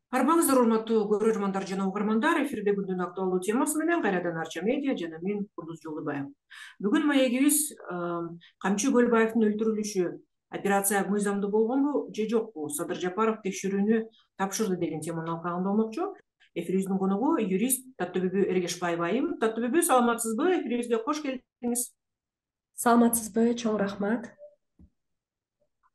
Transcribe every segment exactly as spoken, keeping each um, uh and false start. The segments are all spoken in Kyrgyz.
Арбаңыздар, урматтуу көрөрмандар жана угармандар, эфирде күндүн актуалдуу темасы менен кайрадан Арча медиа жана мен Курдуз Жолдубаев. Бүгүн маегибиз Камчы Көлбаевдин өлтүрүлүшү операция мыйзамдуу болгонбу же жокпу? Садыр Жапаров текшерүүнү тапшырды деген теманын алкагында болмокчу. Эфирибиздин коногу юрист Таттыбүбү Эргешбаева айым. Таттыбүбү, саламатсызбы? Эфирибизге кош келдиңиз. Саламатсызбы? Чоң рахмат.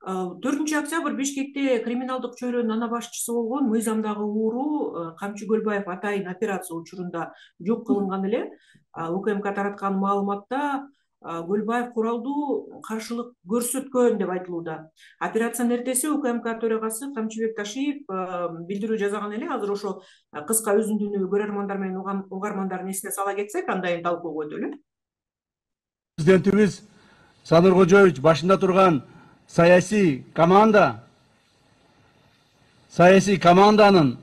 төртүнчү октябрь Бишкекте криминалдык чөйрөнүн ана башчысы болгон мыйзамдагы ууру Камчы Көлбаев атайын операция учурунда жок кылынган эле. УКМК тараткан маалыматта Көлбаев куралдуу каршылык көрсөткөн деп айтылууда. Операциянын эртеси УКМК төрагасы Камчыбек Ташиев билдирүү жасаган эле. Азыр ошо кыска үзүндүнү көрөрмандар менен угармандардын эсине сала кетсек, андан кийин талкууга өтөлү. Президентибиз Садыр Кожоевич башында турган саясий команда, саясий команданын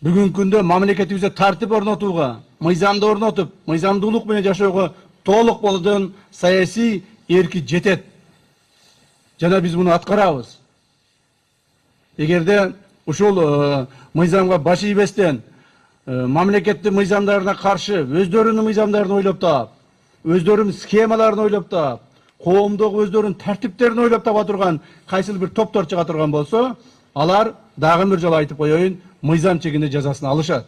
бүгүнкү күндө мамлекетибизде тартип орнотууга, мыйзамды орнотуп, мыйзамдуулук менен жашоого толук болгон саясий эрки жетет. Жана биз муну аткарабыз. Эгерде ушул мыйзамга баш ийбестен, мамлекеттин мыйзамдарына каршы өздөрүнүн мыйзамдарын ойлоп таап, өздөрүнүн схемаларын ойлоп таап, коомдогу өздөрүнүн тартиптерин ойлоп таба турган кайсыл бир топтор чыга турган болсо, алар дагы бир жолу айтып коеюн, мыйзам чегинде жазасын алышат.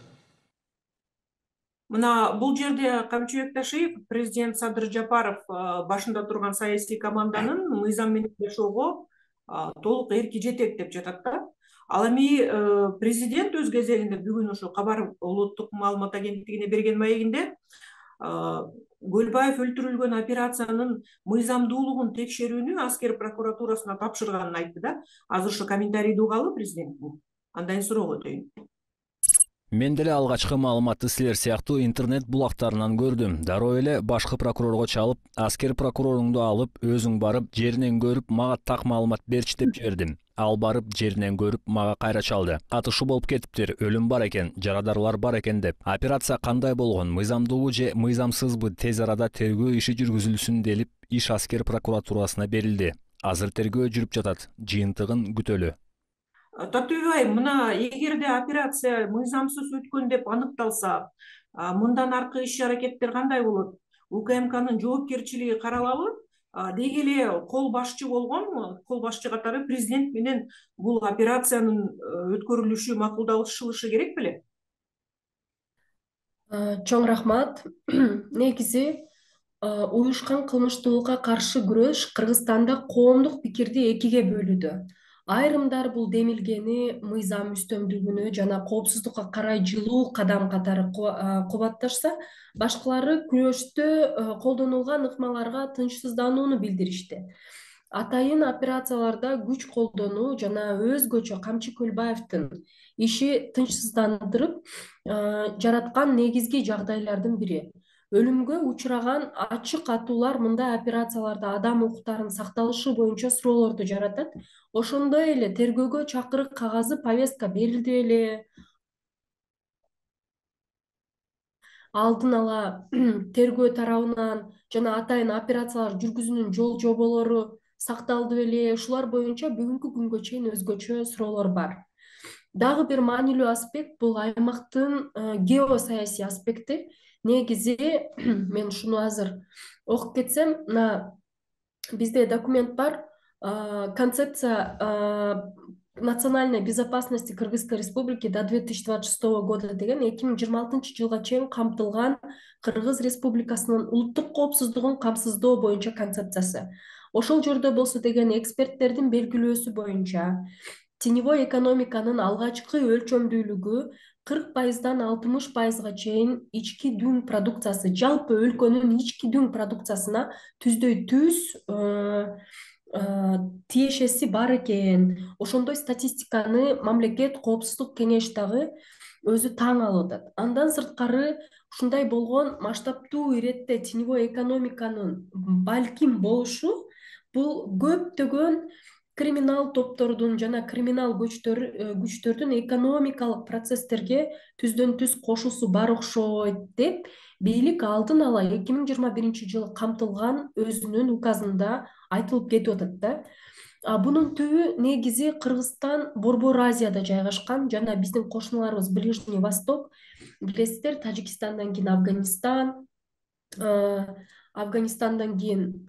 Мына бул жерде Камчыбек Ташиев, президент Садыр Жапаров башында турган саясий команданын мыйзам менен жашоого толук эрки жетет деп жатат да. Ал эми президент өз кезегинде бүгүн ошо Кабар улуттук маалымат агенттигине берген маегинде Көлбаев өлтүрүлгөн операциянын мыйзамдуулугун текшерүүнү аскер прокуратурасына тапшырганын айтты да. Азыр ошо комментарийди угалы президенттин. Андан кийин суроого өтөйүн. Мен деле алгачкы маалыматты силер сыяктуу интернет булактарынан көрдүм. Дароо эле башкы прокурорго чалып, аскер прокуроруңду алып, өзүң барып, жеринен көрүп, мага так маалымат берчи деп жибердим. Ал барып, жеринен көрүп, мага кайра чалды. Атышуу болуп кетиптир, өлүм бар экен, жарадарлар бар экен деп. Операция кандай болгон, мыйзамдуубу же мыйзамсызбы тез арада тергөө иши жүргүзүлсүн делип, иш аскер прокуратурасына берилди. Азыр тергөө жүрүп жатат, жыйынтыгын күтөлү. Таттыбүбү айым, мына эгерде операция мыйзамсыз өткөн деп аныкталса, мындан аркы иш аракеттер кандай болот? УКМКнын жоопкерчилиги каралабы? Деги эле кол башчы болгон, кол башчы катары президент менен бул операциянын өткөрүлүшү макулдашылышы керек беле? Чоң рахмат. Негизи уюшкан кылмыштуулукка каршы күрөш Кыргызстанда коомдук пикирди экиге бөлүүдө. Айрымдар бул демилгени мыйзам үстөмдүгүнө жана коопсуздукка карай жылуу кадам катары кубатташса, башкалары күрөштө колдонулган ыкмаларга тынчсызданууну билдиришти. Атайын операцияларда күч колдонуу жана өзгөчө Камчы Көлбаевдин иши тынчсыздандырып жараткан негизги жагдайлардын бири. Өлүмгө учураган ачык атуулар мындай операцияларда адам укуктарынын сакталышы боюнча суроолорду жаратат. Ошондой эле тергөөгө чакырык кагазы, повестка берилди беле? Алдын ала тергөө тарабынан жана атайын операциялар жүргүзүүнүн жол жоболору сакталды беле? Ушулар боюнча бүгүнкү күнгө чейин өзгөчө суроолор бар. Дагы бир маанилүү аспект бул аймактын геосаясий аспекти. Негизи мен ушуну азыр окуп кетсем, мына бизде документ бар, концепция национальной безопасности Кыргызской республики до две тысячи двадцать шестого года деген эки миң жыйырма алтынчы жылга чейин камтылган Кыргыз Республикасынын улуттук коопсуздугун камсыздоо боюнча концепциясы. Ошол жерде болсо деген эксперттердин белгилөөсү боюнча теневой экономиканын алгачкы өлчөмдүүлүгү кырк пайыздан алтымыш пайызга чейин ички дүң продукциясы, жалпы өлкөнүн ички дүң продукциясына түздөй түз тиешеси бар экен. Ошондой статистиканы мамлекет коопсуздук кеңеш дагы өзү таң алып атат. Андан сырткары ушундай болгон масштабтуу иретте теневой экономиканын балким болушу бул көптөгөн криминал топтордун жана криминал күчтөрдүн экономикалык процесстерге түздөн түз кошуусу бар окшойт деп бийлик алдын ала эки миң жыйырма биринчи жылы камтылган өзүнүн указында айтылып кетип атат да. Бунун түбү негизи Кыргызстан Борбор Азияда жайгашкан жана биздин кошуналарыбыз Ближний Восток, билесиздер, Тажикстандан кийин Афганистан, Афганистандан кийин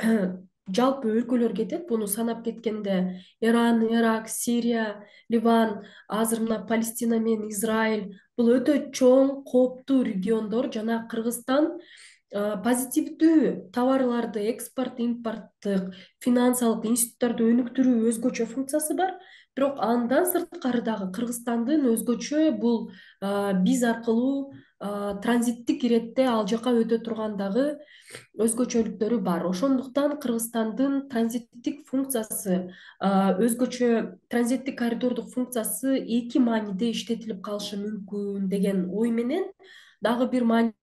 жалпы өлкөлөр кетет. Буну санап кеткенде Иран, Ирак, Сирия, Ливан, азыр мына Палестина менен Израиль бул өтө чоң, кооптуу региондор жана Кыргызстан позитивдүү товарларды экспорт, импорттук, финансылык институттарды өнүктүрүү өзгөчө функциясы бар. Бирок андан сырткары дагы Кыргызстандын өзгөчө бул биз аркылуу транзиттик иретте ал жака өтө турган дагы өзгөчөлүктөрү бар. Ошондуктан Кыргызстандын транзиттик функциясы, өзгөчө транзиттик коридордук функциясы эки мааниде иштетилип калышы мүмкүн деген ой менен дагы бир маанилүү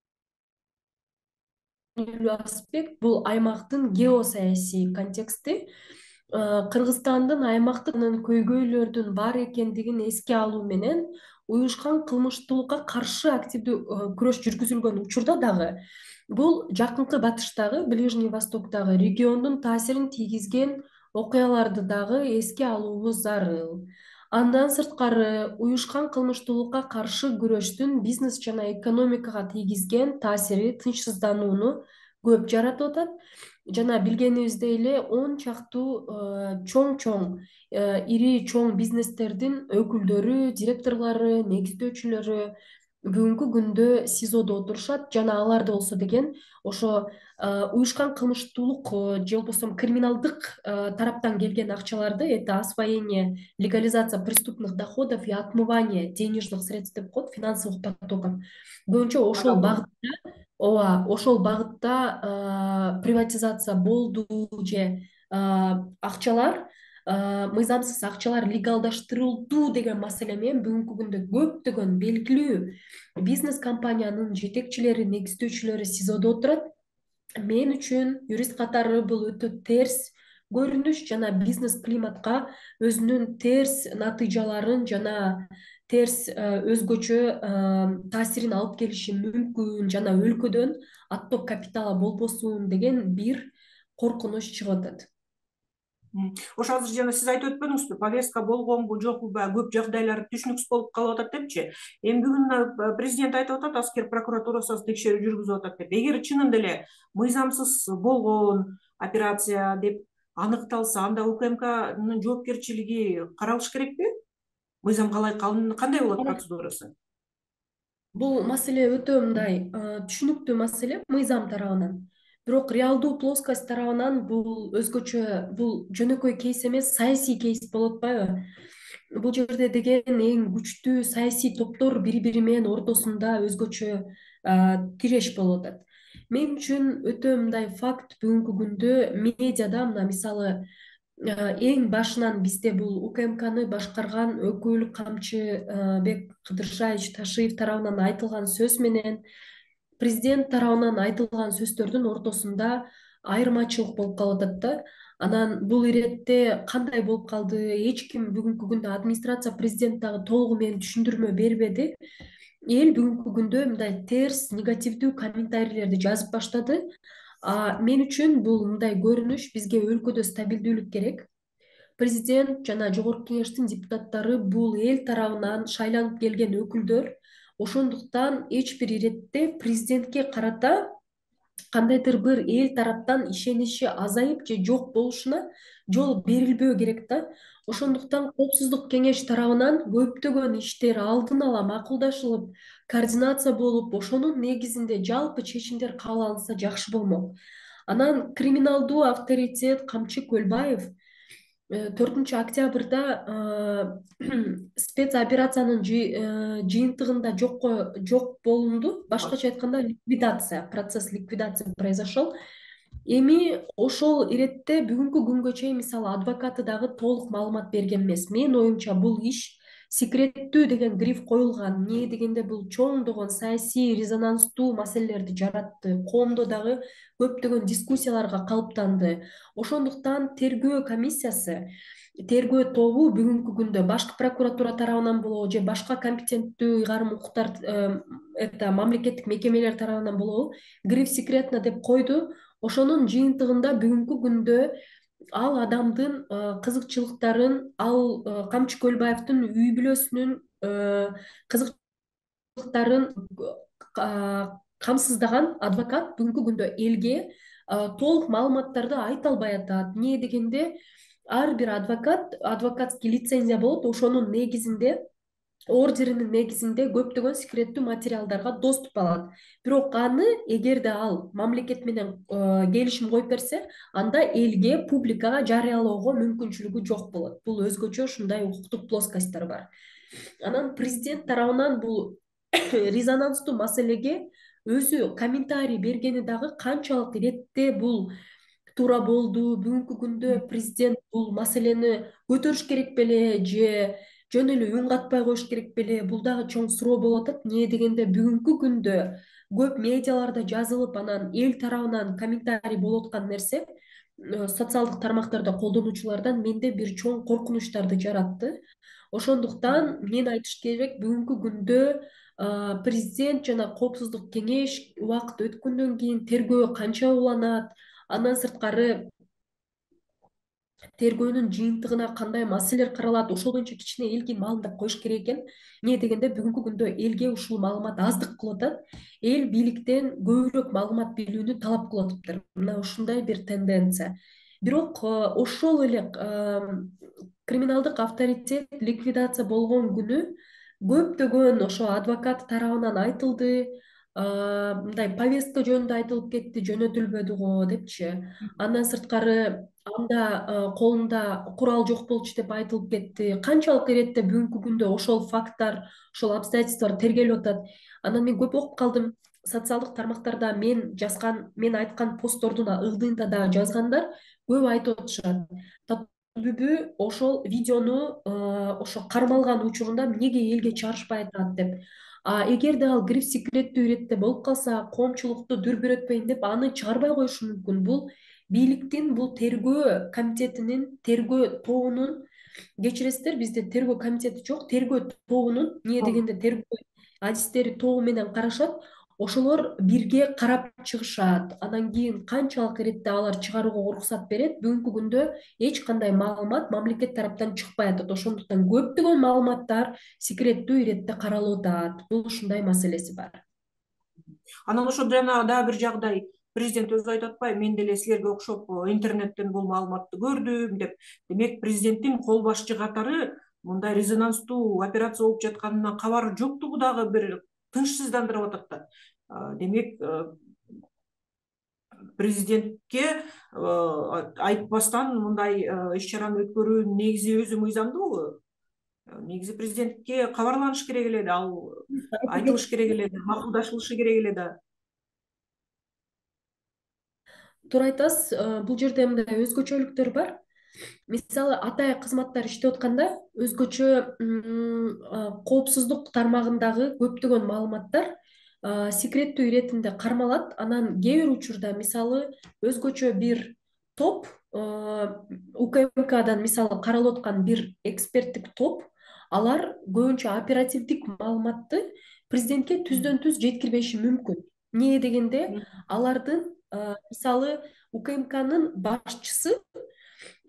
аспект бул аймактын геосаясий контексти. Кыргызстандын аймактын көйгөйлөрдүн бар экендигин эске алуу менен уюшкан кылмыштуулукка каршы активдүү күрөш жүргүзүлгөн учурда дагы бул жакынкы батыштагы, Ближний Востоктогу региондун таасирин тийгизген окуяларды дагы эске алуубуз зарыл. Андан сырткары уюшкан кылмыштуулукка каршы күрөштүн бизнес жана экономикага тийгизген таасири тынчсызданууну көп жаратып атат. Жана билгенибиздей эле он чактуу чоң-чоң, ири чоң бизнестердин өкүлдөрү, директорлору, негиздөөчүлөрү бүгүнкү күндө СИЗОдо отурушат жана аларды болсо деген ошо уюшкан кылмыштуулук же болбосо криминалдык тараптан келген акчаларды, это освоение, легализация преступных доходов и отмывание денежных средств деп коет, финансовых потоков боюнча ошол багытта ооба ошол багытта приватизация болду же акчалар, мыйзамсыз акчалар легалдаштырылду деген маселе менен бүгүнкү күндө көптөгөн белгилүү бизнес компаниянын жетекчилери, негиздөөчүлөрү СИЗОдо отурат. Мен үчүн юрист катары бул өтө терс көрүнүш жана бизнес климатка өзүнүн терс натыйжаларын жана терс өзгөчө таасирин алып келиши мүмкүн жана өлкөдөн отток капитала болбосун деген бир коркунуч чыгып атат. Ошо азыр жана сиз айтып өтпөдүңүзбү, повестка болгонбу жокпу, көп жагдайлар түшүнүксүз болуп калып атат депчи. Эми бүгүн президент айтып атат, аскер прокуратурасы текшерүү жүргүзүп атат деп. Эгер чынында эле мыйзамсыз болгон операция деп аныкталса, анда УКМКнын жоопкерчилиги каралыш керекпи? Мыйзам калай кандай болот процедурасы? Бул маселе өтө мындай түшүнүктүү маселе мыйзам тарабынан. Бирок реалдуу плоскость тарабынан бул өзгөчө, бул жөнөкөй кейс эмес, саясий кейс болуп атпайбы? Бул жерде деген эң күчтүү саясий топтор бири-бири менен ортосунда өзгөчө тиреш болуп атат. Мен үчүн өтө мындай факт бүгүнкү күндө медиада, мына мисалы эң башынан бизде бул УКМКны башкарган өкүл Камчыбек Кыдыршаевич Ташиев тарабынан айтылган сөз менен президент тарабынан айтылган сөздөрдүн ортосунда айырмачылык болуп калып атат да. Анан бул иретте кандай болуп калды, эч ким бүгүнкү күндө администрация президент дагы толугу менен түшүндүрмө бербеди. Эл бүгүнкү күндө мындай терс, негативдүү комментарийлерди жазып баштады. Мен үчүн бул мындай көрүнүш, бизге өлкөдө стабилдүүлүк керек. Президент жана жогорку кеңештин депутаттары бул эл тарабынан шайланып келген өкүлдөр. Ошондуктан эч бир иретте президентке карата кандайдыр бир эл тараптан ишеничи азайып же жок болушуна жол берилбөө керек да. Ошондуктан Коопсуздук кеңеш тарабынан көптөгөн иштер алдын ала макулдашылып, координация болуп, ошонун негизинде жалпы чечимдер кабыл алынса жакшы болмок. Анан криминалдуу авторитет Камчы Көлбаев төртүнчү октябрда спецоперациянын жыйынтыгында жокко жок болунду. Башкача айтканда ликвидация, процесс ликвидации произошел. Эми ошол иретте бүгүнкү күнгө чейин мисалы адвокаты дагы толук маалымат берген эмес. Менин оюмча бул иш секреттүү деген гриф коюлган. Эмне дегенде бул чоңдогон саясий резонанстуу маселелерди жаратты. Коомдо дагы көптөгөн дискуссияларга калыптанды. Ошондуктан тергөө комиссиясы, тергөө тобу бүгүнкү күндө башкы прокуратура тарабынан болобу же башка компетенттүү ыйгарым укуктар, это мамлекеттик мекемелер тарабынан болобу гриф секретно деп койду. Ошонун жыйынтыгында бүгүнкү күндө ал адамдын кызыкчылыктарын, ал Камчы Көлбаевдин үй бүлөсүнүн кызыкчылыктарын камсыздаган адвокат бүгүнкү күндө элге толук маалыматтарды айта албай атат. Эмне дегенде ар бир адвокат адвокатский лицензия болот, ошонун негизинде ордеринин негизинде көптөгөн секреттүү материалдарга доступ алат. Бирок аны эгерде ал мамлекет менен келишим коюп берсе, анда элге, публикага жарыялоого мүмкүнчүлүгү жок болот. Бул өзгөчө ушундай укуктук плоскосттор бар. Анан президент тарабынан бул резонанстуу маселеге өзү комментарий бергени дагы канчалык иретте бул туура болду, бүгүнкү күндө президент бул маселени көтөрүш керек беле же жөн эле үн катпай коюш керек беле? Бул дагы чоң суроо болуп атат. Эмне дегенде бүгүнкү күндө көп медиаларда жазылып, анан эл тарабынан комментарий болуп аткан нерсе социалдык тармактарда колдонуучулардан менде бир чоң коркунучтарды жаратты. Ошондуктан мен айтыш керек, бүгүнкү күндө президент жана коопсуздук кеңеш убакыт өткөндөн кийин тергөө канча уланат, андан сырткары тергөөнүн жыйынтыгына кандай маселелер каралат, ошол боюнча кичине элге маалымдап коюш керек экен. Эмне дегенде бүгүнкү күндө элге ушул маалымат аздык кылып атат. Эл бийликтен көбүрөөк маалымат билүүнү талап кылып атыптыр. Мына ушундай бир тенденция. Бирок ошол эле криминалдык авторитет ликвидация болгон күнү көптөгөн ошо адвокат тарабынан айтылды, мындай повестка жөнүндө айтылып кетти, жөнөтүлбөдү го депчи. Андан сырткары анда колунда курал жок болчу деп айтылып кетти. Канчалык иретте бүгүнкү күндө ошол факттар, ошол обстоятельстволор тергелип атат. Анан мен көп окуп калдым. Социалдык тармактарда мен жазган, мен айткан посттордун ылдыйында дагы жазгандар көп айтып атышат. Түбү ошол видеону ошо кармалган учурунда эмнеге элге чыгарышпай атат деп. А эгерде ал кирип секреттүү иретте болуп калса, коомчулукту дүрбүрөтпөйүн деп аны чыгарбай коюшу мүмкүн. Бул бийликтин, бул тергөө комитетинин, тергөө тобунун, кечиресиздер, бизде тергөө комитети жок, тергөө тобунун, эмне дегенде тергөө адистери тобу менен карашат, ошолор бирге карап чыгышат. Андан кийин канчалык иретте алар чыгарууга уруксат берет, бүгүнкү күндө эч кандай маалымат мамлекет тараптан чыкпай атат. Ошондуктан көптөгөн маалыматтар секреттүү иретте каралып атат. Бул ушундай маселеси бар. Анан ошо жана дагы бир жагдай, президент өзү айтып атпайбы, мен деле силерге окшоп интернеттен бул маалыматты көрдүм деп. Демек президенттин кол башчы катары мындай резонанстуу операция болуп жатканынан кабары жоктугу дагы бир тынчсыздандырып атат да. Демек президентке айтпастан мындай иш чараны өткөрүү негизи өзү мыйзамдуубу? Негизи президентке кабарланыш керек эле да, ал айтылыш керек эле да, макулдашылышы керек эле да. Туура айтасыз. Бул жерде мындай өзгөчөлүктөр бар. Мисалы, атайын кызматтар иштеп атканда өзгөчө коопсуздук тармагындагы көптөгөн маалыматтар секреттүү иретинде кармалат. Анан кээ бир учурда, мисалы, өзгөчө бир топ, УКМКдан мисалы каралып аткан бир эксперттик топ, алар көбүнчө оперативдик маалыматты президентке түздөн түз жеткирбеши мүмкүн. Эмне дегенде, алардын мисалы УКМКнын башчысы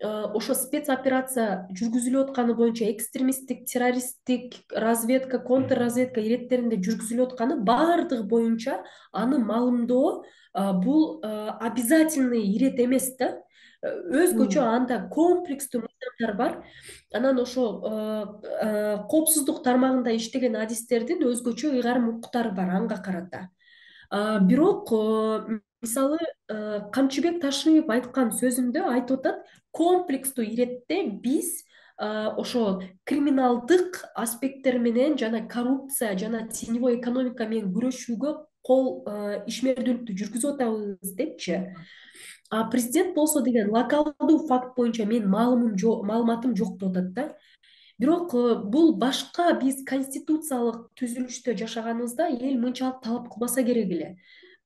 ошо спецоперация жүргүзүлүп атканы боюнча экстремисттик, террористтик разведка, контрразведка иреттеринде жүргүзүлүп атканы баардыгы боюнча аны маалымдоо бул обязательный ирет эмес да. Өзгөчө анда комплекстүү мыйзамдар бар. Анан ошо коопсуздук тармагында иштеген адистердин өзгөчө ыйгарым укуктары бар анга карата. Бирок мисалы Камчыбек Ташиев айткан сөзүндө айтып атат, комплекстүү иретте биз ошо криминалдык аспекттер менен жана коррупция жана теневой экономика менен күрөшүүгө кол ишмердүүлүктү жүргүзүп атабыз депчи. А президент болсо деген локалдуу факт боюнча мен маалыматым жок деп атат да. Бирок бул башка биз конституциялык түзүлүштө жашаганыбызда эл мынчалык талап кылбаса керек эле.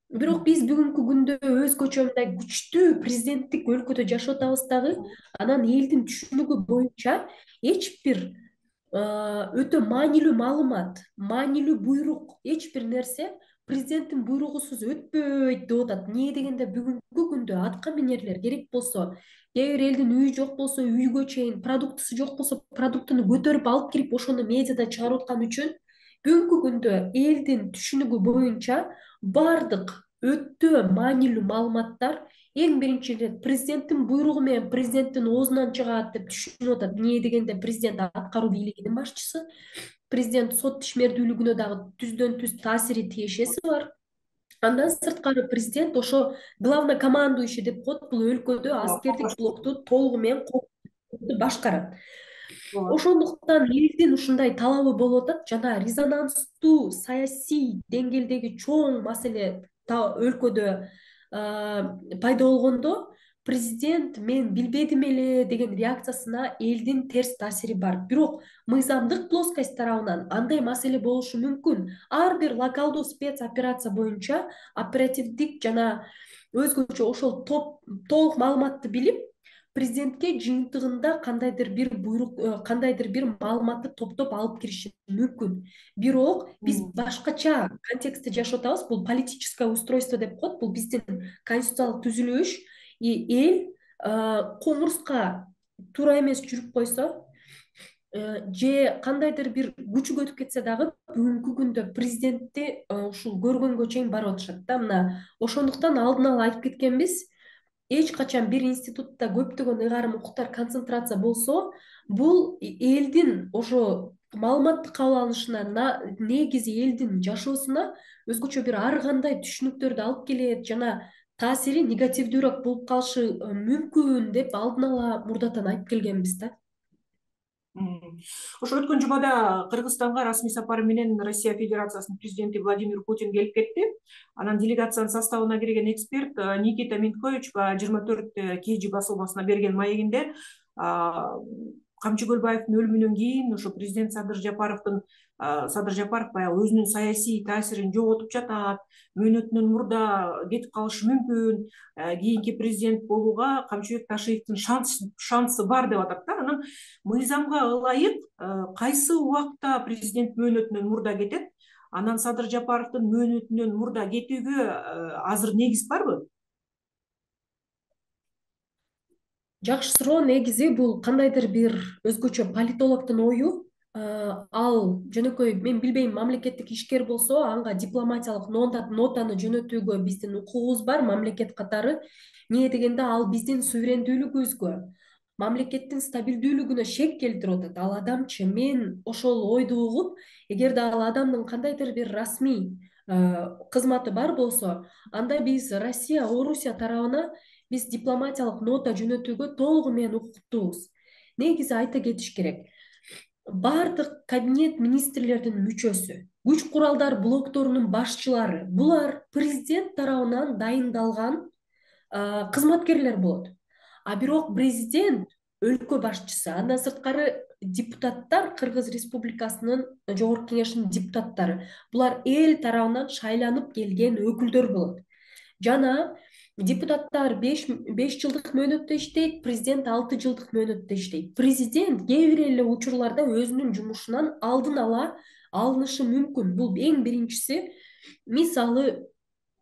Бирок биз бүгүнкү күндө өзгөчө мындай күчтүү президенттик өлкөдө жашап атабыз дагы. Анан элдин түшүнүгү боюнча эч бир өтө маанилүү маалымат, маанилүү буйрук, эч бир нерсе президенттин буйругусуз өтпөйт деп атат. Эмне дегенде бүгүнкү күндө атка минерлер керек болсо кээ бир элдин үйү жок болсо үйгө чейин, продуктысы жок болсо продуктуну көтөрүп алып кирип ошону медиада чыгарып аткан үчүн бүгүнкү күндө элдин түшүнүгү боюнча бардык өтө маанилүү маалыматтар эң биринчи ирет президенттин буйругу менен президенттин оозунан чыгат деп түшүнүп атат. Эмне дегенде президент аткаруу бийлигинин башчысы, президент сот ишмердүүлүгүнө дагы түздөн түз таасири тиешеси бар. Андан сырткары президент ошо главнокомандующий деп коет, бул өлкөдө аскердик блокту толугу менен башкарат. Ошондуктан элдин ушундай талабы болуп атат жана резонанстуу саясий деңгээлдеги чоң маселе өлкөдө пайда болгондо президент мен билбедим эле деген реакциясына элдин терс таасири бар. Бирок мыйзамдык плоскость тарабынан андай маселе болушу мүмкүн. Ар бир локалдуу спецоперация боюнча оперативдик жана өзгөчө ошол топ толук маалыматты билип, президентке жыйынтыгында кандайдыр бир буйрук, кандайдыр бир маалыматты топтоп алып кириши мүмкүн. Бирок биз башкача контекстте жашап атабыз. Бул политическое устройство деп коет. Бул биздин конституциялык түзүлүш. Эл коңурска туура эмес жүрүп койсо же кандайдыр бир күчүгө өтүп кетсе дагы бүгүнкү күндө президентти ушул көргөнгө чейин барып атышат да. Мына ошондуктан алдын ала айтып кеткенбиз, эч качан бир институтта көптөгөн ыйгарым укуктар концентрация болсо, бул элдин ошо маалыматты кабыл алышына, негизи элдин жашоосуна өзгөчө бир ар кандай түшүнүктөрдү алып келет жана таасири негативдүүрөөк болуп калышы мүмкүн деп алдын ала мурдатан айтып келгенбиз да. Ошо өткөн жумада Кыргызстанга расмий сапары менен Россия Федерациясынын президенти Владимир Путин келип кетти. Анан делегациянын составына кирген эксперт Никита Минткович жыйырма төрт кей жи басылмасына берген маегинде Камчы Көлбаевдин өлүмүнөн кийин ошо президент Садыр Жапаровдун Садыр Жапаров баягы өзүнүн саясий таасирин жоготуп жатат, мөөнөтүнөн мурда кетип калышы мүмкүн, кийинки президент болууга Камчыбек Ташиевдин шансы бар деп атат да. Анан мыйзамга ылайык кайсы убакта президент мөөнөтүнөн мурда кетет? Анан Садыр Жапаровдун мөөнөтүнөн мурда кетүүгө азыр негиз барбы? Жакшы суроо. Негизи бул кандайдыр бир өзгөчө политологдун ою. Ал жөнөкөй мен билбейм, мамлекеттик ишкер болсо анга дипломатиялык нотаны жөнөтүүгө биздин укугубуз бар мамлекет катары. Эмне дегенде ал биздин суверендүүлүгүбүзгө, мамлекеттин стабилдүүлүгүнө шек келтирип атат. Ал адамчы мен ошол ойду угуп, эгерде ал адамдын кандайдыр бир расмий кызматы бар болсо, анда биз Россия, Орусия тарабына биз дипломатиялык нота жөнөтүүгө толугу менен укуктуубуз. Негизи айта кетиш керек. Бардык кабинет министрлердин мүчөсү, күч куралдар блокторунун башчылары, булар президент тарабынан дайындалган кызматкерлер болот. А бирок президент өлкө башчысы, андан сырткары депутаттар, Кыргыз Республикасынын Жогорку Кеңешинин депутаттары, булар эл тарабынан шайланып келген өкүлдөр болот. Жана депутаттар беш жылдык мөөнөттө иштейт, президент алты жылдык мөөнөттө иштейт. Президент кээ бир эле учурларда өзүнүн жумушунан алдын ала алынышы мүмкүн. Бул эң биринчиси. Мисалы,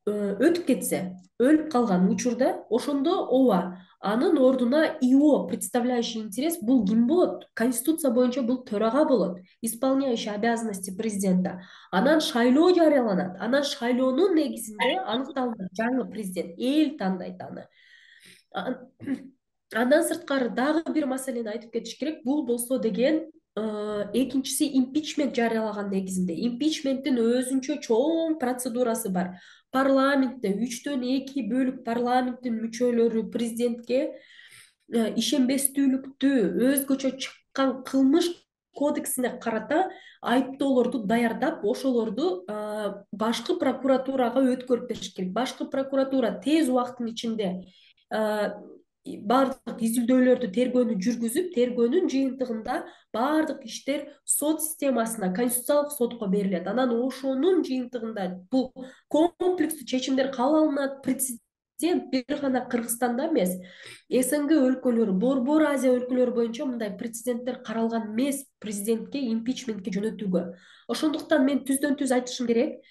өтүп кетсе, өлүп калган учурда, ошондо ооба, анын ордуна ИО, представляющий интерес, бул ким болот? Конституция боюнча бул төрага болот, исполняющий обязанности президента. Анан шайлоо жарыяланат. Анан шайлоонун негизинде аныкталынат жаңы президент, эл тандайт аны. Андан сырткары дагы бир маселени айтып кетиш керек. Бул болсо деген экинчиси импичмент жарыялаган негизинде. Импичменттин өзүнчө чоң процедурасы бар. Парламентте үчтөн эки бөлүк парламенттин мүчөлөрү президентке ишенбестүүлүктү, өзгөчө чыккан кылмыш кодексине карата айыптоолорду даярдап, ошолорду башкы прокуратурага өткөрүп бериш керек. Башкы прокуратура тез убакыттын ичинде бардык изилдөөлөрдү, тергөөнү жүргүзүп, тергөөнүн жыйынтыгында бардык иштер сот системасына, конституциялык сотко берилет. Анан ошонун жыйынтыгында бул комплекстүү чечимдер кабыл алынат. Президент бир гана Кыргызстанда эмес, СНГ өлкөлөрү, Борбор Азия өлкөлөрү боюнча мындай прецеденттер каралган эмес президентке импичментке жөнөтүүгө. Ошондуктан мен түздөн түз айтышым керек.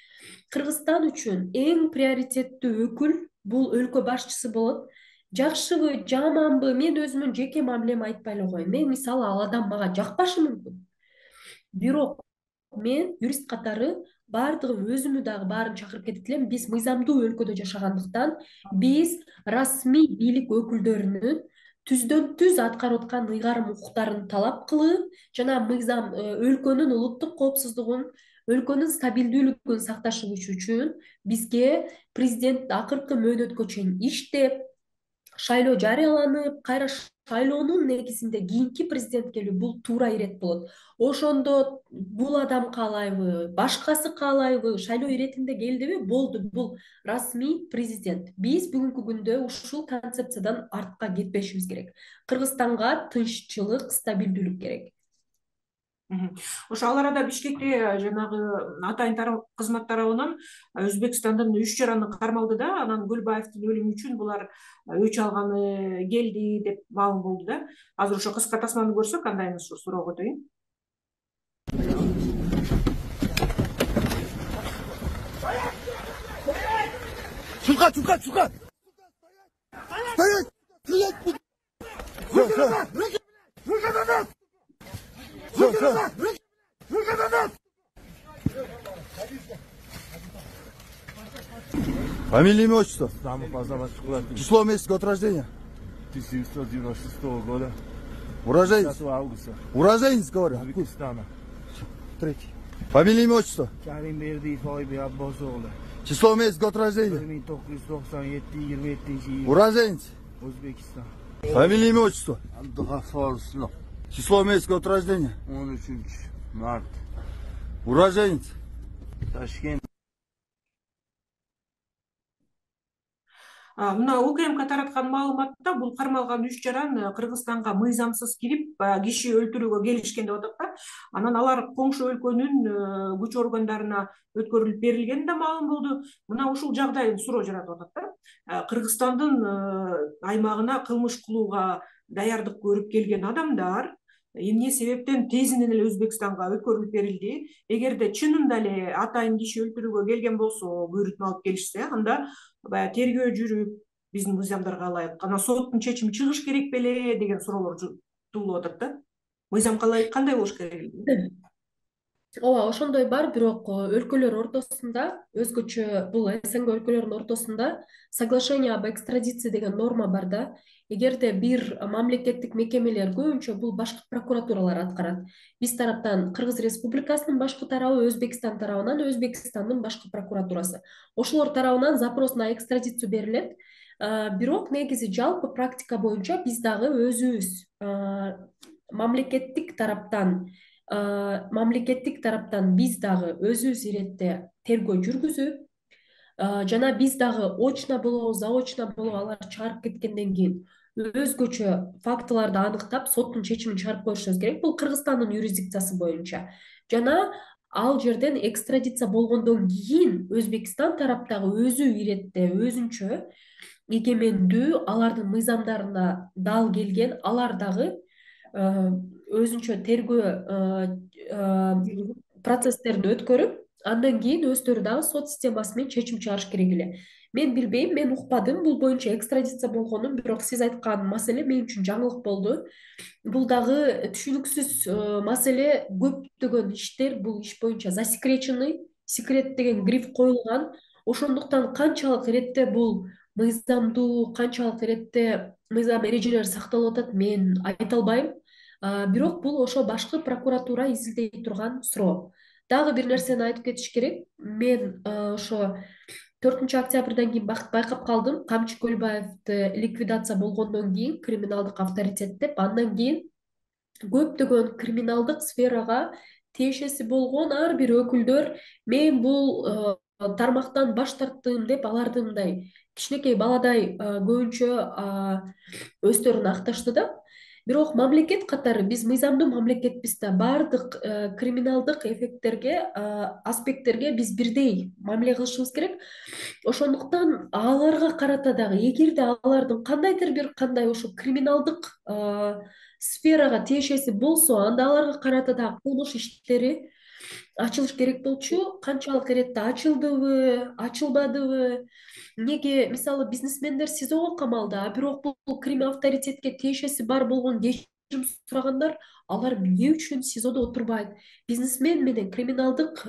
Кыргызстан үчүн эң приоритеттүү өкүл бул өлкө башчысы болот. жакшыбы жаманбы мен өзүмдүн жеке мамилеми айтпай эле коеюн. Мен мисалы ал адам мага жакпашы мүмкүн, бирок мен юрист катары баардыгы өзүмү дагы баарын чакырып кетип элем. Биз мыйзамдуу өлкөдө жашагандыктан биз расмий бийлик өкүлдөрүнүн түздөн түз аткарып аткан ыйгарым укуктарын талап кылып жана мыйзам өлкөнүн улуттук коопсуздугун, өлкөнүн стабилдүүлүгүн сакташы үчүн бизге президент акыркы мөөнөткө чейин иштеп, шайлоо жарыяланып, кайра шайлоонун негизинде кийинки президент келүү бул туура ирет болот. Ошондо бул адам каалайбы, башкасы каалайбы, шайлоо иретинде келдиби, болду, бул расмий президент. Биз бүгүнкү күндө ушул концепциядан артка кетпешибиз керек. Кыргызстанга тынччылык, стабилдүүлүк керек. Ошо ал арада Бишкекте жанагы атайын кызмат тарабынан Өзбекстандын үч жараны кармалды да, анан Гүлбаевдин өлүмү үчүн булар өч алганы келди деп маалым болду да. Азыр ошо кыска тасманы көрсөк, кандайын ушу суроого өтөйүн. Чурка, чурка, чурка! Стоять! Стоять! Руки назад! Руки! Руки назад! Руки назад! Руки назад! Фамилия, имя, отчество? Число, месяц, год рождения? тысяча девятьсот девяносто шестого года. Уроженец? десятого августа. Уроженец, говорю. Узбекистана. Третий. Фамилия, имя, отчество? Каримбердиев Ойбек Аббосоглу. Число, месяц, год рождения? bir ming to'qqiz yuz to'qson yetti yigirma yettinchi yil. Уроженец? O'zbekiston. Фамилия, имя, отчество? Abdug'affor Islom. Число, месяц, год рождения? o'n uchinchi mart. Уроженец? Toshkent. Мына УКМК тараткан маалыматта бул кармалган үч жаран Кыргызстанга мыйзамсыз кирип киши өлтүрүүгө келишкен деп атат да. Анан алар коңшу өлкөнүн күч органдарына өткөрүлүп берилгени да маалым болду. Мына ушул жагдай суроо жаратып атат да. Кыргызстандын аймагына кылмыш кылууга даярдык көрүп келген адамдар эмне себептен тезинен эле Өзбекстанга өткөрүлүп берилди? Эгерде чынында эле атайын киши өлтүрүүгө келген болсо, буйрутма алып келишсе, анда баягы тергөө жүрүп, биздин мыйзамдарга ылайык анан соттун чечими чыгыш керек беле деген суроолор туулуп атат да. Мыйзам кандай болуш керек? Ооба, ошондой бар, бирок өлкөлөр ортосунда өзгөчө бул СНГ өлкөлөрүнүн ортосунда соглашение об экстрадиции деген норма бар да. Эгерде бир мамлекеттик мекемелер, көбүнчө бул башкы прокуратуралар аткарат. Биз тараптан Кыргыз Республикасынын башкы тарабы, Өзбекстан тарабынан Өзбекстандын башкы прокуратурасы. Ошолор тарабынан запрос на экстрадицию берилет. Бирок негизи жалпы практика боюнча биз дагы өзүбүз мамлекеттик тараптан мамлекеттик тараптан биз дагы өзүбүз иретте тергөө жүргүзүп жана биз дагы очно болобу, заочно болобу алар чыгарып кеткенден кийин өзгөчө фактыларды аныктап, соттун чечимин чыгарып коюшубуз керек. Бул Кыргызстандын юрисдикциясы боюнча. Жана ал жерден экстрадиция болгондон кийин Өзбекстан тараптагы өзү иретте өзүнчө эгемендүү, алардын мыйзамдарына дал келген, алар дагы өзүнчө тергөө процесстерин өткөрүп, андан кийин өздөрү дагы сот системасы менен чечим чыгарыш керек эле. Мен билбейм, мен укпадым бул боюнча экстрадиция болгонун, бирок сиз айткан маселе мен үчүн жаңылык болду. Бул дагы түшүнүксүз маселе. Көптөгөн иштер бул иш боюнча засекреченный, секрет деген гриф коюлган. Ошондуктан канчалык иретте бул мыйзамдуу, канчалык иретте мыйзам эрежелери сакталып атат, мен айта албайм. Бирок бул ошо башкы прокуратура изилдей турган суроо. Дагы бир нерсени айтып кетиш керек. Мен ошо төртүнчү октябрдан кийин байкап калдым. Камчы Көлбаевди ликвидация болгондон кийин криминалдык авторитет деп, андан кийин көптөгөн криминалдык сферага тиешеси болгон ар бир өкүлдөр мен бул тармактан баш тарттым деп аларды мындай кичинекей баладай көбүнчө өздөрүн акташты да. Бирок мамлекет катары биз мыйзамдуу мамлекетпиз да, баардык криминалдык эффекттерге, аспекттерге биз бирдей мамиле кылышыбыз керек. Ошондуктан аларга карата дагы эгерде алардын кандайдыр бир кандай ошо криминалдык сферага тиешеси болсо, анда аларга карата дагы кылмыш иштери ачылыш керек болчу, канчалык иретте ачылдыбы, ачылбадыбы, эмнеге мисалы бизнесмендер СИЗОго камалды, а бирок бул Крим авторитетке тиешеси бар болгон кечирим сурагандар, алар эмне үчүн СИЗОдо отурбайт? Бизнесмен менен криминалдык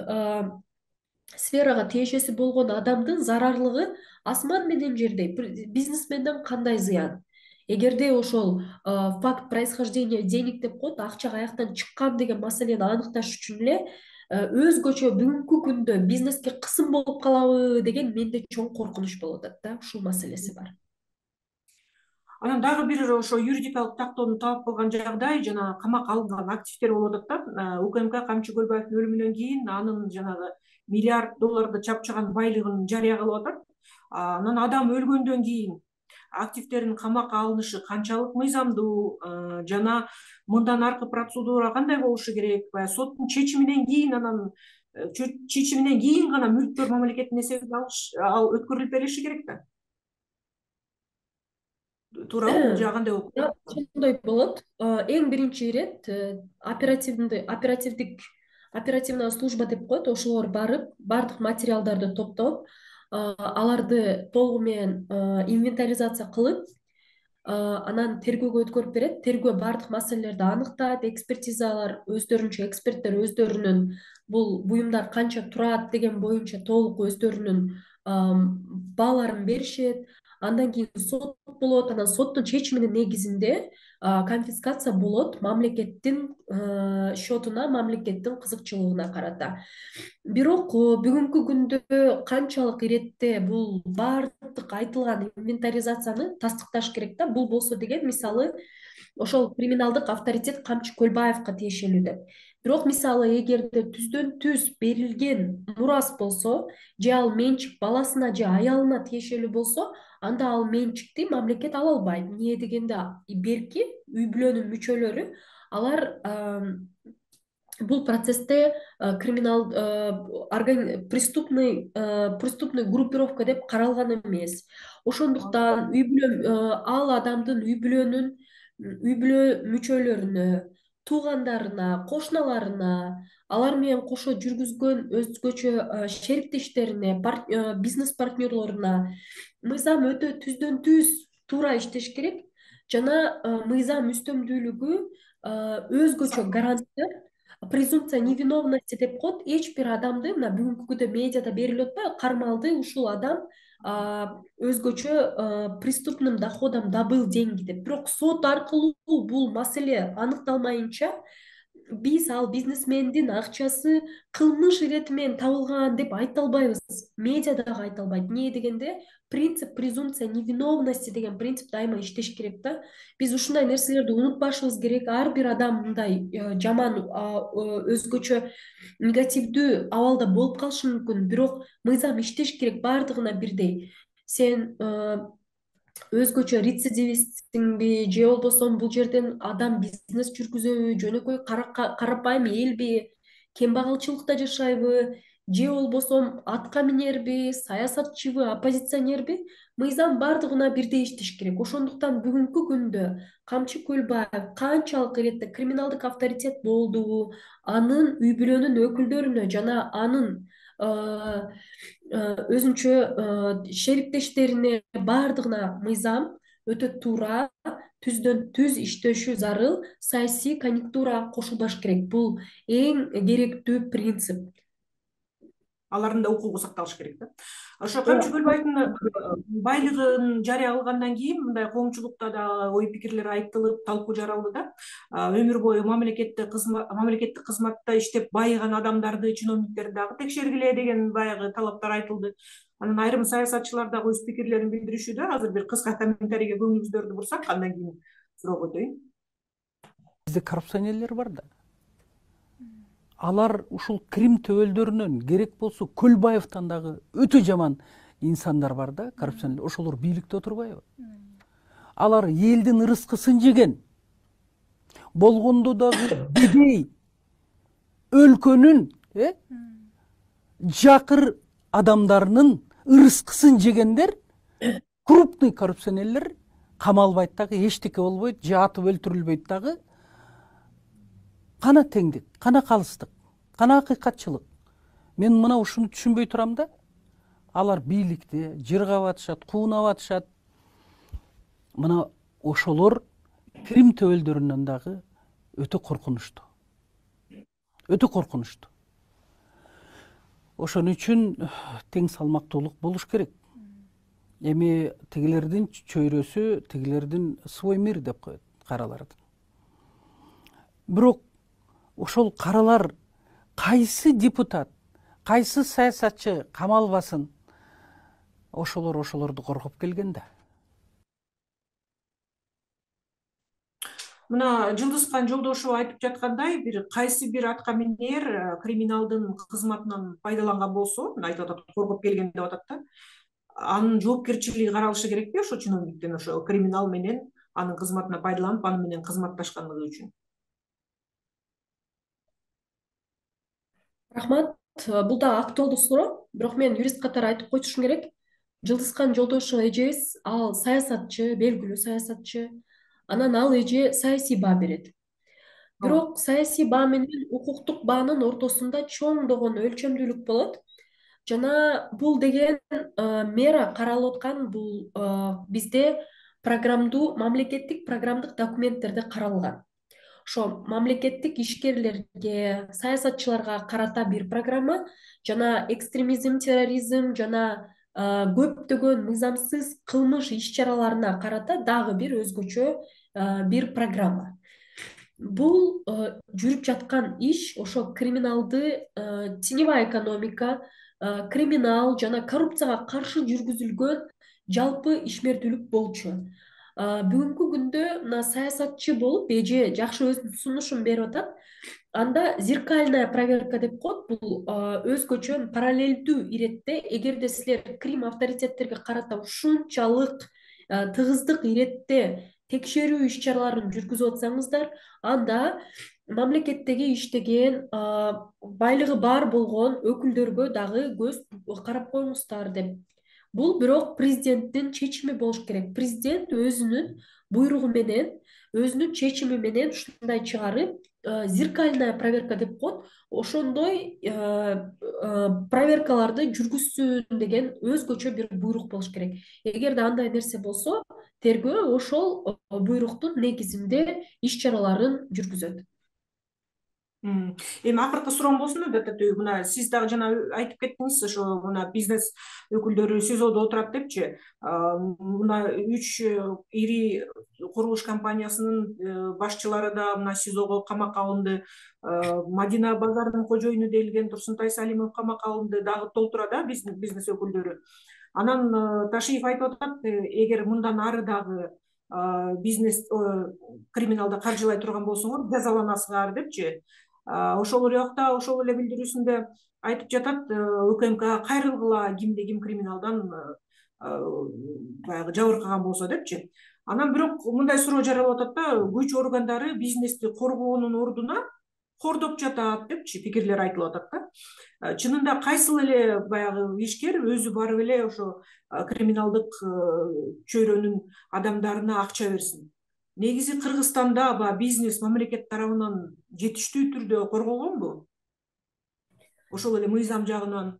сферага тиешеси болгон адамдын зарарлыгы асман менен жердей. Бизнесменден кандай зыян? Эгерде ошол факт происхождения денег деп коет, акча каяктан чыккан деген маселени аныкташ үчүн эле өзгөчө бүгүнкү күндө бизнеске кысым болуп калабы деген менде чоң коркунуч болуп атат да, ушул маселеси бар. Анан дагы бир ошо юридикалык тактоону талап кылган жагдай жана камакка алынган активдер болуп атат да. УКМК Камчы Көлбаевдин өлүмүнөн кийин анын жанагы миллиард долларды чапчыган байлыгын жарыя кылып атат. Анан адам өлгөндөн кийин активдердин камакка алынышы канчалык мыйзамдуу жана мындан аркы процедура кандай болушу керек? Баягы соттун чечиминен кийин анан чечиминен кийин гана мүлктөр мамлекеттин эсебине ал өткөрүлүп берилиши керек да. Туурабы, бул жагы кандай болот? Ошондой болот. Эң биринчи ирет оперативдик оперативдик оперативная служба деп коет, ошолор барып, бардык материалдарды топтоп, аларды толугу менен инвентаризация кылып, анан тергөөгө өткөрүп берет. Тергөө бардык маселелерди аныктайт, экспертизалар өздөрүнчө, эксперттер өздөрүнүн бул буюмдар канча турат деген боюнча толук өздөрүнүн бааларын беришет. Андан кийин сот болот, анан соттун чечиминин негизинде конфискация болот мамлекеттин счетуна, мамлекеттин кызыкчылыгына карата. Бирок бүгүнкү күндө канчалык иретте бул бардык айтылган инвентаризацияны тастыкташ керек да. Бул болсо деген мисалы ошол криминалдык авторитет Камчы Көлбаевга тиешелүү деп. Бирок мисалы эгерде түздөн түз берилген мурас болсо, же ал менчик баласына же аялына тиешелүү болсо, анда ал менчикти мамлекет ала албайт. Эмне дегенде берки үй бүлөнүн мүчөлөрү алар бул процессте криминал преступный преступный группировка деп каралган эмес. Ошондуктан үй бүлө ал адамдын үй бүлөнүн үй бүлө мүчөлөрүнө, туугандарына, кошуналарына, алар менен кошо жүргүзгөн өзгөчө шериктештерине, бизнес партнерлоруна мыйзам өтө түздөн түз туура иштеш керек жана мыйзам үстөмдүүлүгү өзгөчө гаранттер, презумпция невиновности деп коет. Эч бир адамды мына бүгүнкү күндө медиада берилип атпайбы, кармалды ушул адам өзгөчө преступным доходом добыл деньги деп. Бирок сот аркылуу бул маселе аныкталмайынча биз ал бизнесмендин акчасы кылмыш ирети менен табылган деп айта албайбыз. Медиа дагы айта албайт. Эмне дегенде принцип презумпция невиновности деген принцип дайыма иштеш керек да. Биз ушундай нерселерди унутпашыбыз керек. Ар бир адам мындай жаман өзгөчө негативдүү абалда болуп калышы мүмкүн, бирок мыйзам иштеш керек бардыгына бирдей. Сен өзгөчө рецидивистсиңби же болбосо бул жерден адам бизнес жүргүзөбү, жөнөкөй карапайым элби, кембагалчылыкта жашайбы, же болбосо атка минерби, саясатчыбы, оппозиционерби, мыйзам бардыгына бирдей иштеш керек. Ошондуктан бүгүнкү күндө Камчы Көлбаев канчалык иретте криминалдык авторитет болдубу, анын үй бүлөнүн өкүлдөрүнө жана анын өзүнчө шериктештерине бардыгына мыйзам өтө туура, түздөн түз иштешү зарыл, саясий конъюнктурага кошулбаш керек. Бул эң керектүү принцип. Алардын да укугу сакталыш керек да. Ошо Камчы Көлбаевдин байлыгын жарыя кылгандан кийин мындай коомчулукта да ой пикирлер айтылып, талкуу жаралды да. Өмүр бою мамлекеттик мамлекеттик кызматта иштеп байыган адамдарды, чиновниктерди дагы текшергиле деген баягы талаптар айтылды. Анан айрым саясатчылар дагы өз пикирлерин билдиришүүдө. Азыр бир кыска комментарийге көңүлүңүздөрдү бурсак, андан кийин суроого өтөйүн. Бизде коррупционерлер бар да. Алар ушул Крим төбөлдөрүнөн керек болсо Көлбаевден дагы өтө жаман инсандар бар да, коррупционерлер. Ошолор бийликте отурбайбы? Алар элдин ырыскысын жеген. Болгондо дагы бедей өлкөнүн жакыр адамдарынын ырыскысын жегендер, крупный коррупционерлер камалбайт дагы, эчтеке болбойт, же атып өлтүрүлбөйт дагы. Кана теңдик, кана калыстык, кана акыйкатчылык. Мен мына ушуну түшүнбөй турам да. Алар бийликти жыргап атышат, куунап атышат. Мына ошолор Крим төбөлдөрүнөн дагы өтө коркунучтуу. Өтө коркунучтуу. Ошон үчүн тең салмактуулук болуш керек. Эми тигилердин чөйрөсү, тигилердин свой мир деп коет каралардын. Бирок ошол каралар кайсы депутат, кайсы саясатчы камалбасын, ошолор ошолорду коргоп келген да. Мына Жылдызкан Жолдошева айтып жаткандай, бир кайсы бир атка минер криминалдын кызматынан пайдаланган болсо, айтып атат, коргоп келген деп атат да. Анын жоопкерчилиги каралышы керекпи ошо чиновниктин ошо криминал менен анын кызматына пайдаланып, аны менен кызматташкандыгы үчүн? Рахмат. Бул да актуалдуу суроо, бирок мен юрист катары айтып коюшум керек. Жылдызкан Жолдошева эжебиз ал саясатчы, белгилүү саясатчы. Анан ал эже саясий баа берет. Бирок саясий баа менен укуктук баанын ортосунда чоңдогон өлчөмдүүлүк болот. Жана бул деген мера каралып аткан, бул бизде программдуу, мамлекеттик программдык документтерде каралган. Ошо мамлекеттик ишкерлерге, саясатчыларга карата бир программа, жана экстремизм, терроризм жана көптөгөн мыйзамсыз кылмыш иш-чараларына карата дагы бир өзгөчө бир программа. Бул жүрүп жаткан иш ошо криминалды, теневая экономика, криминал жана коррупцияга каршы жүргүзүлгөн жалпы ишмердүүлүк болчу. Бүгүнкү күндө мына саясатчы болуп эже жакшы өзүнүн сунушун берип атат. Анда зеркальная проверка деп коет. Бул өзгөчө параллелдүү иретте, эгерде силер Крим авторитеттерге карата ушунчалык тыгыздык иретте текшерүү иш-чараларын жүргүзүп атсаңыздар, анда мамлекеттеги иштеген, байлыгы бар болгон өкүлдөргө дагы көз карап коюңуздар деп. Бул бирок президенттин чечими болуш керек. Президент өзүнүн буйругу менен, өзүнүн чечими менен ушундай чыгарып, зеркальная проверка деп коет. Ошондой проверкаларды жүргүзсүн деген өзгөчө бир буйрук болуш керек. Эгерде андай нерсе болсо, тергөө ошол буйруктун негизинде иш-чараларын жүргүзөт. Эми акыркы суроом болсун да, Татөй, мына сиз дагы жана айтып кеттиңиз, ошо мына бизнес өкүлдөрү СИЗОдо отурат депчи. Мына үч ири курулуш компаниясынын башчылары да мына СИЗОго камакка алынды. Мадина базарынын кожоюну делген Турсунтай Салимов камакка алынды, дагы толтура да бизнес өкүлдөрү. Анан Ташиев айтып атат, эгер мындан ары дагы бизнес криминалды каржылай турган болсоңор, жазаланасыңар депчи. Ошол жакта ошол эле билдирүүсүндө айтып жатат, УКМКга кайрылгыла, кимде ким криминалдан баягы жабыркаган болсо депчи. Анан бирок мындай суроо жаралып атат да, күч органдары бизнести коргоонун ордуна кордоп жатат депчи пикирлер айтылып атат да. Чынында кайсыл эле баягы ишкер өзү барып эле ошо криминалдык чөйрөнүн адамдарына акча берсин? Негизи Кыргызстанда бизнес мамлекет тарабынан жетиштүү түрдө корголгонбу? Ошол эле мыйзам жагынан.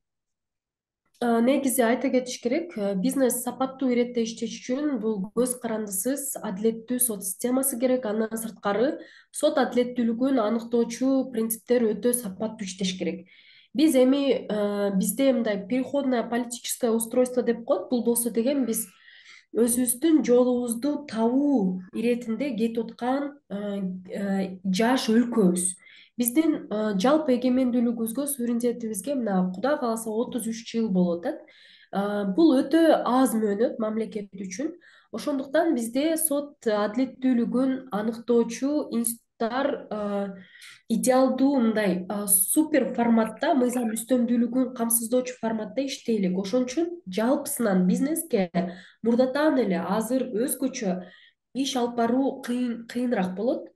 Негизи айта кетиш керек, бизнес сапаттуу иретте иштеш үчүн бул көз карандысыз адилеттүү сот системасы керек. Андан сырткары сот адилеттүүлүгүн аныктоочу принциптер өтө сапаттуу иштеш керек. Биз эми бизде мындай переходное политическое устройство деп коет. Бул болсо деген биз өзүбүздүн жолубузду табуу иретинде кетип аткан жаш өлкөбүз. Биздин жалпы эгемендүүлүгүбүзгө, суверенитетибизге мына Кудай кааласа отуз үч жыл болуп атат. Бул өтө аз мөөнөт мамлекет үчүн. Ошондуктан бизде сот адилеттүүлүгүн аныктоочу институттар идеалдуу мындай супер форматта, мыйзам үстөмдүүлүгүн камсыздоочу форматта иштейлик. Ошон үчүн жалпысынан бизнеске мурдатан эле азыр өзгөчө иш алып баруу кыйын кыйыныраак болот.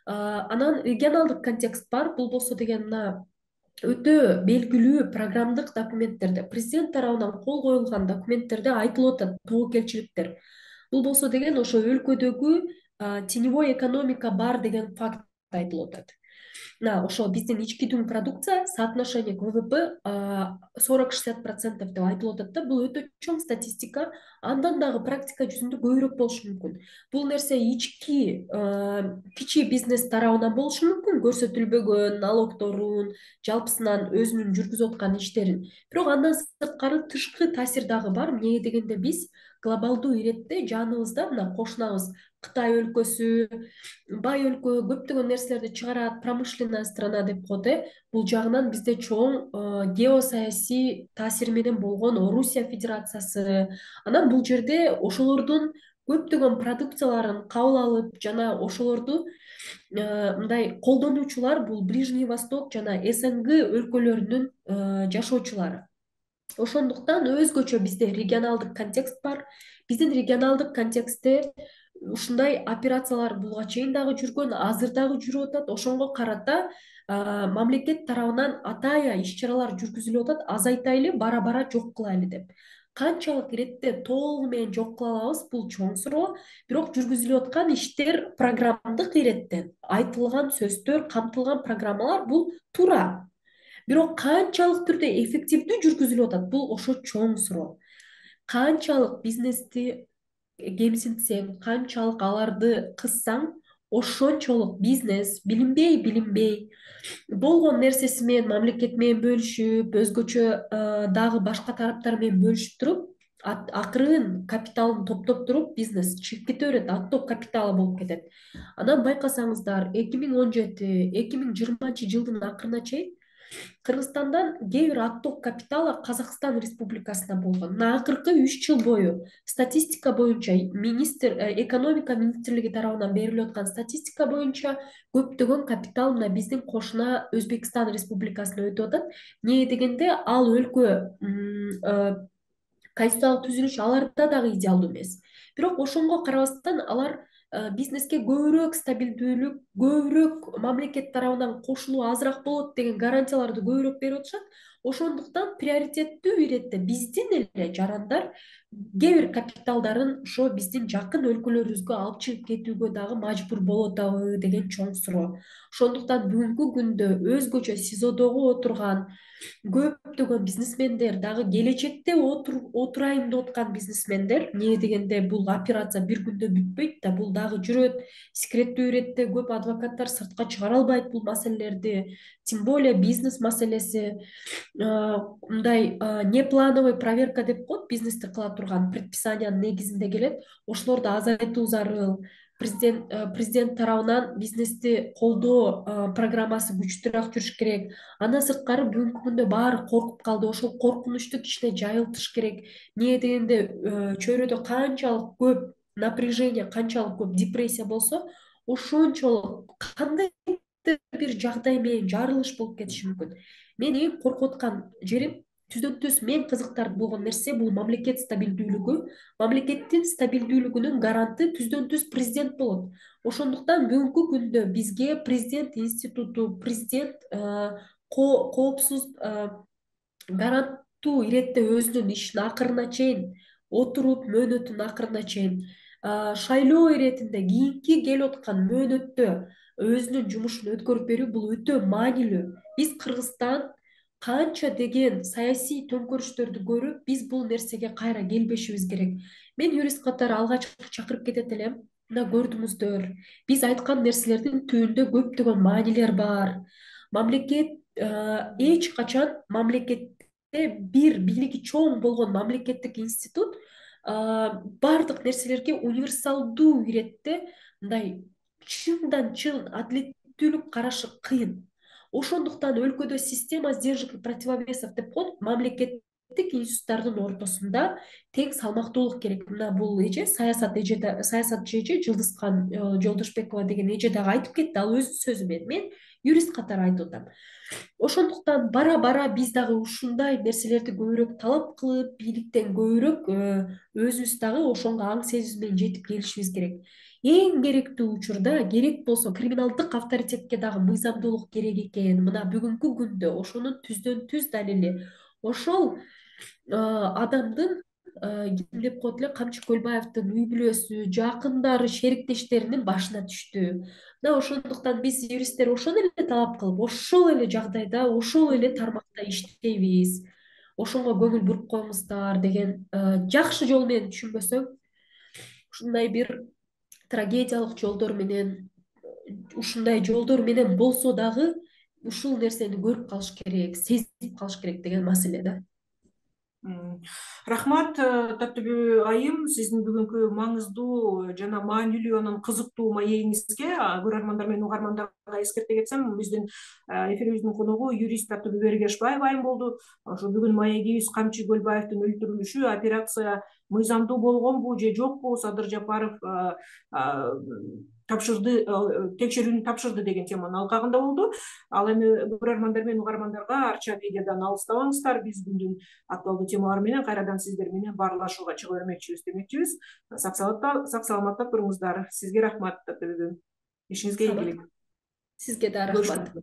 Анан регионалдык контекст бар. Бул болсо деген мына өтө белгилүү программдык документтерде, президент тарабынан кол коюлган документтерде айтылып атат тобокелчиликтер. Бул болсо деген ошо өлкөдөгү теневой экономика бар деген факт айтылып атат. мына ошо биздин ички дүң продукция соотношение к ВВП сорок шестьдесят процентов деп айтылып атат да. Бул өтө чоң статистика. Андан дагы практика жүзүндө көбүрөөк болушу мүмкүн. Бул нерсе ички кичи бизнес тарабынан болушу мүмкүн, көрсөтүлбөгөн налогторун, жалпысынан өзүнүн жүргүзүп аткан иштерин. Бирок андан сырткары тышкы таасир дагы бар. Эмне дегенде биз глобалдуу иретте жаныбызда мына кошунабыз Кытай өлкөсү, бай өлкө көптөгөн нерселерди чыгарат, промышленная страна деп коет э. Бул жагынан бизде чоң геосаясий таасири менен болгон Орусия Федерациясы. Анан бул жерде ошолордун көптөгөн продукцияларын кабыл алып жана ошолорду мындай колдонуучулар бул Ближний Восток жана СНГ өлкөлөрүнүн жашоочулары. Ошондуктан өзгөчө бизде регионалдык контекст бар. Биздин регионалдык контекстте ушундай операциялар буга чейин дагы жүргөн, азыр дагы жүрүп атат. Ошонго карата мамлекет тарабынан атайын иш-чаралар жүргүзүлүп атат. Азайтайлы, бара-бара жок кылайлы деп. Канчалык иретте толугу менен жок кыла алабыз, бул чоң суроо. Бирок жүргүзүлүп аткан иштер программдык иреттен айтылган сөздөр, камтылган программалар бул туура. Бирок канчалык түрдө эффективдүү жүргүзүлүп атат, бул ошо чоң суроо. Канчалык бизнести кемсинтсең, канчалык аларды кыссаң, ошончолук бизнес билинбей билинбей болгон нерсеси менен мамлекет менен бөлүшүп, өзгөчө дагы башка тараптар менен бөлүшүп туруп, акырын капиталын топтоп туруп бизнес чыгып кете берет, отток капиталы болуп кетет. Анан байкасаңыздар, эки миң он жети эки миң жыйырманчы жылдын акырына чейин Кыргызстандан кээ бир отток капиталы Казакстан Республикасына болгон. Мына акыркы үч жыл бою статистика боюнча, министр экономика министрлиги тарабынан берилип аткан статистика боюнча көптөгөн капитал мына биздин кошуна Өзбекстан Республикасына өтүп атат. Эмне дегенде ал өлкө конституциялык түзүлүш аларда дагы идеалдуу эмес. Бирок ошонго карабастан алар бизнеске көбүрөөк стабилдүүлүк, көбүрөөк мамлекет тарабынан кошулуу азыраак болот деген гарантияларды көбүрөөк берип атышат. Ошондуктан приоритеттүү иретте биздин эле жарандар кээ бир капиталдарын ошо биздин жакын өлкөлөрүбүзгө алып чыгып кетүүгө дагы мажбур болуп атабы деген чоң суроо. Ошондуктан бүгүнкү күндө өзгөчө СИЗОдогу отурган көптөгөн бизнесмендер, дагы келечекте отурайын деп аткан бизнесмендер, эмне дегенде бул операция бир күндө бүтпөйт да, бул дагы жүрөт. Секреттүү иретте көп адвокаттар сыртка чыгара албайт бул маселелерди, тем более бизнес маселеси. Мындай неплановый проверка деп коет, бизнести кыла турган предписаниянын негизинде келет. Ошолорду азайтуу зарыл. Президент президент тарабынан бизнести колдоо программасы күчтүүрөөк жүрүш керек. Андан сырткары бүгүнкү күндө баары коркуп калды. Ошол коркунучту кичине жайылтыш керек. Эмне дегенде чөйрөдө канчалык көп напряжение, канчалык көп депрессия болсо, ошончолук кандай бир жагдай менен жарылыш болуп кетиши мүмкүн. Мен эң коркуп аткан жерим түздөн түз мен кызыктырып болгон нерсе бул мамлекет стабилдүүлүгү. Мамлекеттин стабилдүүлүгүнүн гаранты түздөн түз президент болот. Ошондуктан бүгүнкү күндө бизге президент институту, президент коопсуз гаранттуу иретте өзүнүн ишин акырына чейин отуруп, мөөнөтүн акырына чейин шайлоо иретинде кийинки келип аткан мөөнөттө өзүнүн жумушун өткөрүп берүү бул өтө маанилүү. Биз Кыргызстан канча деген саясий төңкөрүштөрдү көрүп, биз бул нерсеге кайра келбешибиз керек. Мен юрист катары алгач чакырып кетет элем. Мына көрдүңүздөр, биз айткан нерселердин түбүндө көптөгөн маанилер бар. Мамлекет эч качан мамлекетте бир бийлиги чоң болгон мамлекеттик институт бардык нерселерге универсалдуу иретте мындай чындан чын адилеттүүлүк карашы кыйын. Ошондуктан өлкөдө система сдержек и противовесов деп коет, мамлекеттик институттардын ортосунда тең салмактуулук керек. Мына бул эже саясат эже саясатчы эже Жылдызкан Жолдошбекова деген эже дагы айтып кетти, ал өз сөзү менен. Мен юрист катары айтып атам. Ошондуктан бара-бара биз дагы ушундай нерселерди көбүрөөк талап кылып, бийликтен көбүрөөк өзүбүз дагы ошонго аң сезим менен жетип келишибиз керек. Эң керектүү учурда керек болсо криминалдык авторитетке дагы мыйзамдуулук керек экен. Мына бүгүнкү күндө ошонун түздөн түз далили ошол адамдын ким деп коет эле, Камчы Көлбаевдин үй бүлөсү, жакындары, шериктештеринин башына түштү. Мына ошондуктан биз юристтер ошону эле талап кылып, ошол эле жагдайда, ошол эле тармакта иштейбиз, ошого көңүл буруп коюңуздар деген жакшы жол менен түшүнбөсөм, ушундай бир трагедиялык жолдор менен, ушундай жолдор менен болсо дагы ушул нерсени көрүп калыш керек, сезип калыш керек деген маселе да. Рахмат, Таттыбү айым, сиздин бүгүнкү маңыздуу жана маанилүү анан кызыктуу маегиңизге көрөрмандар менен угармандарга эскерте кетсем, биздин эфирибиздин коногу юрист Таттыбү Бергешбаева айым болду. Ошо бүгүн маегибиз Камчы Көлбаевдин өлтүрүлүшү операция мыйзамдуу болгонбу же жокпу, Садыр Жапаров тапшырды, текшерүүнү тапшырды деген теманын алкагында болду. Ал эми көрөрмандар менен угармандарга арча медиадан алыстабаңыздар, биз күндүн актуалдуу темалары менен кайрадан сиздер менен баарлашууга чыга бермекчибиз демекчибиз. Сак саламатта туруңуздар. Сизге рахмат, Таттыбү. Ишиңизге ийгилик. Сизге да рахмат.